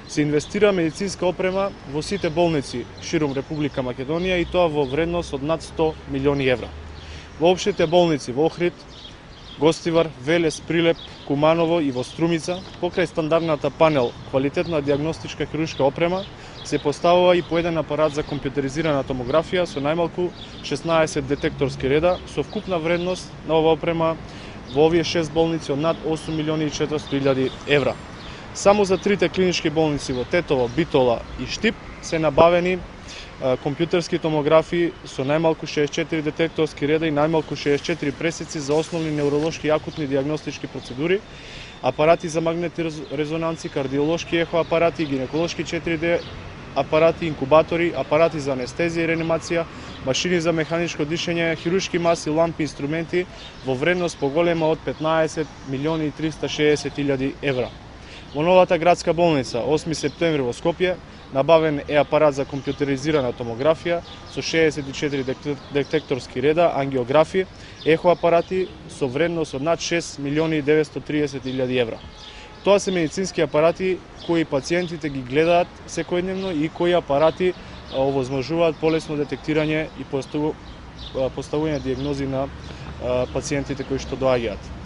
се инвестира медицинска опрема во сите болници ширум Република Македонија и тоа во вредност од над 100 милиони евра. Во општите болници во Охрид, Гостивар, Велес, Прилеп, Куманово и во Струмица, покрај стандардната панел квалитетна диагностичка хируршка опрема, се поставува и по еден апарат за компјутеризирана томографија со најмалку 16 детекторски реда со вкупна вредност на ова опрема во овие 6 болници од над 8 милиони и 400 илјади евра. Само за трите клинички болници во Тетово, Битола и Штип се набавени компјутерски томографии со најмалку 64 детекторски реда и најмалку 64 пресеци за основни невролошки и акутни диагностички процедури, апарати за магнетни резонанци, кардиолошки ехоапарати, гинеколошки 4D апарати, инкубатори, апарати за анестезија и реанимација, машини за механичко дишење, хируршки маси, лампи, инструменти во вредност поголема од 15 милиони и 360 илјади евра. Во новата градска болница, 8 септември во Скопје, набавен е апарат за компјутеризирана томографија со 64 детекторски реда, ангиографи, ехоапарати со вредност од над 6 милиони и 930 илјади евра. Тоа се медицински апарати кои пациентите ги гледаат секојдневно и кои апарати овозможуваат полесно детектирање и поставување диагнози на пациентите кои што доаѓаат.